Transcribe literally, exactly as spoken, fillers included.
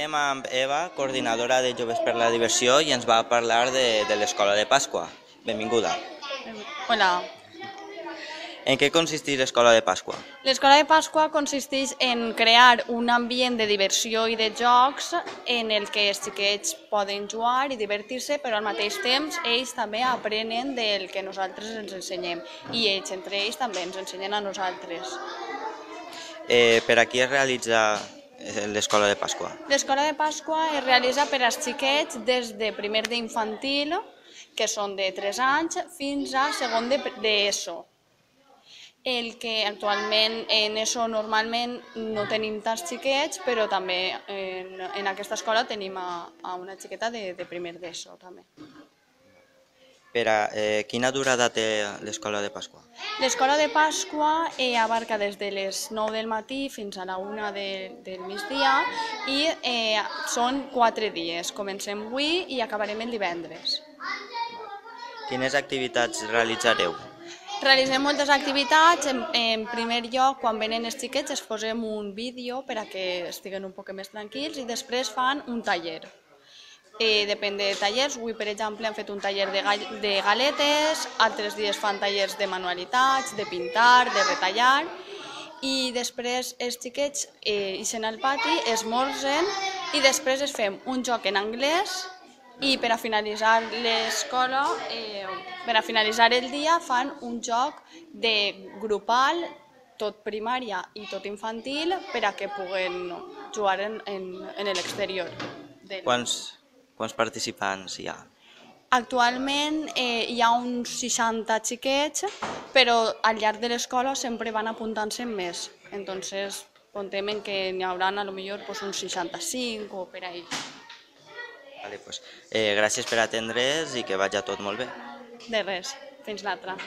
Estem amb Eva, coordinadora de Joves per la Diversió, i ens va parlar de, de l'Escola de Pasqua. Benvinguda. Hola. En què consisteix l'Escola de Pasqua? L'Escola de Pasqua consisteix en crear un ambient de diversió i de jocs en el que els xiquets poden jugar i divertir-se, però al mateix temps ells també aprenen del que nosaltres ens ensenyem i ells entre ells també ens ensenyen a nosaltres. Eh, per a qui es realitza l'Escola de Pasqua? L'Escola de Pasqua es realitza per als xiquets des de primer d'infantil, que són de tres anys, fins a segon d'ESO. El que actualment en ESO normalment no tenim tants xiquets, però també en, en aquesta escola tenim a, a una xiqueta de, de primer d'ESO també. Per a, eh, quina durada té l'Escola de Pasqua? L'escola de Pasqua eh, abarca des de les nou del matí fins a la una de, del migdia i eh, són quatre dies. Comencem avui i acabarem el divendres. Quines activitats realitzareu? Realitzem moltes activitats. En, en primer lloc, quan venen els xiquets, es posem un vídeo per a que estiguen un poc més tranquils i després fan un taller. Eh, depèn de tallers. Avui, per exemple, hem fet un taller de, gall de galetes, altres dies fan tallers de manualitats, de pintar, de retallar, i després els xiquets eh, ixen al pati, esmorzen i després es fem un joc en anglès i per a finalitzar l'escola, eh, per a finalitzar el dia, fan un joc de grupal, tot primària i tot infantil, per a que puguen jugar en, en, en l'exterior. Quants, quants participants hi ha? Actualment eh, hi ha uns seixanta xiquets, però al llarg de l'escola sempre van apuntant-se més. Entonces, contem que n'hi haurà a lo millor pues, uns seixanta-cinc o per ahí. Vale, pues, eh, gràcies per atendre's i que vagi tot molt bé. De res, fins l'altra.